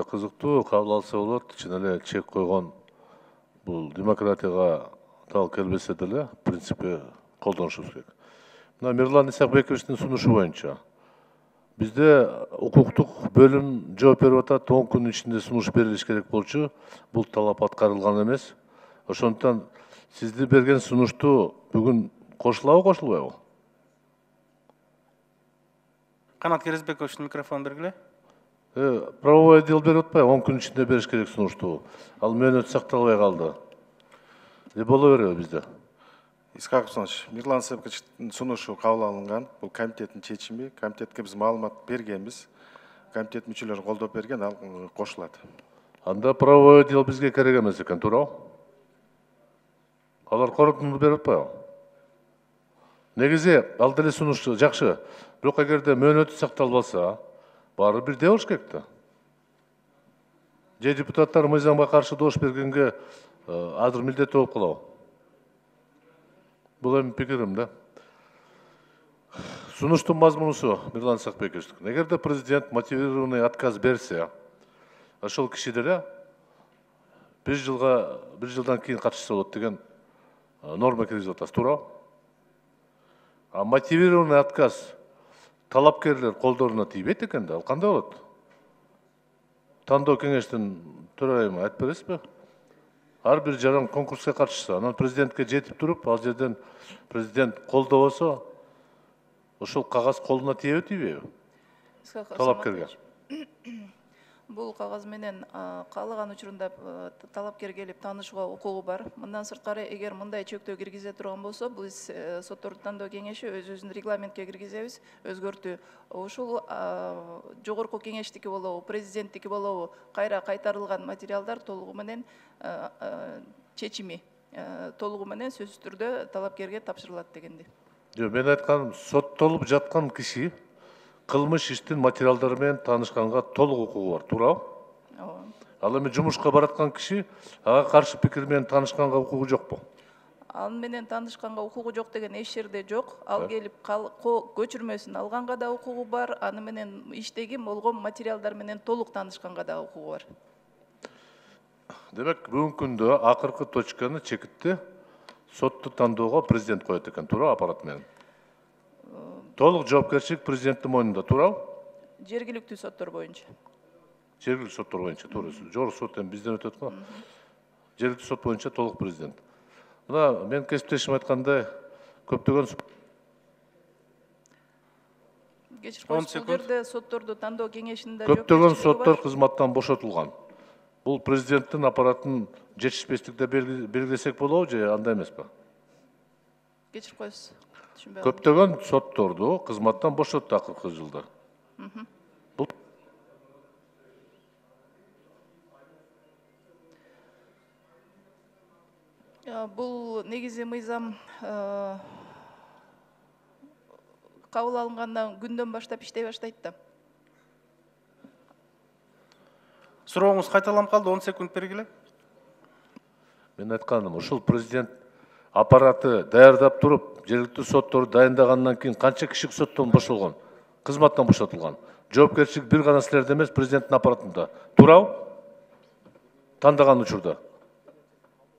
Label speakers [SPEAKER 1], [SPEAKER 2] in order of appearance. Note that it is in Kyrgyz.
[SPEAKER 1] кызыктуу кабыл алса болот. Чын эле чек койгон бул демократияга дал келбесе деле в принципе колдонушубуз керек. Мына Мирлан Исакбековичтин сунушу боюнча бизде укуктук бөлүм жооп берип атат, 10 күнүн ичинде сунуш берилиш керек болчу. Бул талап аткарылган эмес. Ошондуктан сизди берген сунушту бүгүн кошулабы, кошулбайбы?
[SPEAKER 2] Канат Керезбековичтин микрофонун бергиле.
[SPEAKER 1] Правовой отдел берип атпайбы? 10 күн ичинде бериш керек сунушту. Ал мөөнөт сакталбай калды. Боло береби бизде?
[SPEAKER 3] Исхак Александрович, Мирлан Исакбековичтин сунушу кабыл алынган. Бул комитеттин чечими. Комитетке биз маалымат бергенбиз. Комитет мүчөлөрү колдоп берген, ал кошулат.
[SPEAKER 1] Анда правовой отдел бизге керек эмес экен, туурабы? Алар корутунду берип атпайбы? Негизи ал деле сунуш жакшы. Бирок эгерде мөөнөтү сакталбаса, баары бирдей болуш керек да. Же депутаттар мыйзамга каршы добуш бергенге азыр милдеттүү болуп калабы? Бул эми пикирим да. Сунуштун мазмунусу Мирлан Исакбекович. Эгерде президент мотивированный отказ берсе, ошол киши деле бир жылдан кийин катышса болот деген норма киргизип атасыз, туурабы? А мотивированный отказ талапкерлер колдоруна тийбейт экен да, ал кандай болот? Тандоо кеңештин төрайымы айтып бересизби? Ар бир жаран конкурска катышса, анан президентке жетип туруп, ал жерден президент колдобосо, ошол кагаз колуна тийеби, тийбейби? Талапкерге.
[SPEAKER 4] Бул кагаз менен каалаган учурунда талапкер келип таанышууга укугу бар. Мындан сырткары, эгер мындай чектөө киргизе турган болсо, биз сотторду тандоо кеңеши өзүбүздүн регламентке киргизебиз, өзгөртүү. Ушул жогорку кеңештики болобу, президенттики болобу, кайра кайтарылган материалдар толугу менен чечими толугу менен сөзсүз түрдө талапкерге тапшырылат дегенди.
[SPEAKER 1] Жок, мен айтканым, соттолуп жаткан киши кылмыш иштин материалдары менен таанышканга толук укугу бар, туурабы?
[SPEAKER 4] Ооба.
[SPEAKER 1] Ал эми жумушка бараткан киши ага каршы пикир менен таанышканга укугу жокпу?
[SPEAKER 4] Ал менен таанышканга укугу жок деген эч жерде жок. Ал келип көчүрмөсүн алганга да укугу бар, аны менен иштеги болгон материалдар менен толук таанышканга да укугу бар.
[SPEAKER 1] Демек, бүгүнкү күндө акыркы точканы чекитти сотту тандоого президент коет экен, туурабы, аппарат менен? Толук жоопкерчилик президенттин мойнунда, туурабы?
[SPEAKER 4] Жергиликтүү соттор боюнча.
[SPEAKER 1] Жергиликтүү соттор боюнча, туура. Жогорку сот эми бизден өтөт го. Жергиликтүү сот боюнча толук президент. Мына мен кесиптешим айткандай, көптөгөн
[SPEAKER 4] Кечир коюңуз, бул жерде сотторду тандоо кеңешинде
[SPEAKER 1] көптөгөн соттор кызматтан бошотулган. Бул президенттин аппаратын жетишпестикте белгилесек болобу же андай эмеспи?
[SPEAKER 4] Кечир коюңуз.
[SPEAKER 1] Көптөгөн сотторду кызматтан бошотту акыркы жылда.
[SPEAKER 4] Бул негизи мыйзам кабыл алынгандан күндөн баштап иштей баштайт да.
[SPEAKER 2] Сурооңуз кайталанып калды, 10 секунд бергиле.
[SPEAKER 1] Мен айтканым, ушул президент аппараты даярдап туруп, жергиликтүү сотторду дайындагандан кийин канча киши соттон бошолгон, кызматтан бошотулган. Жоопкерчилик бир гана силерде эмес, президенттин аппаратында. Туурабы? Тандаган учурда.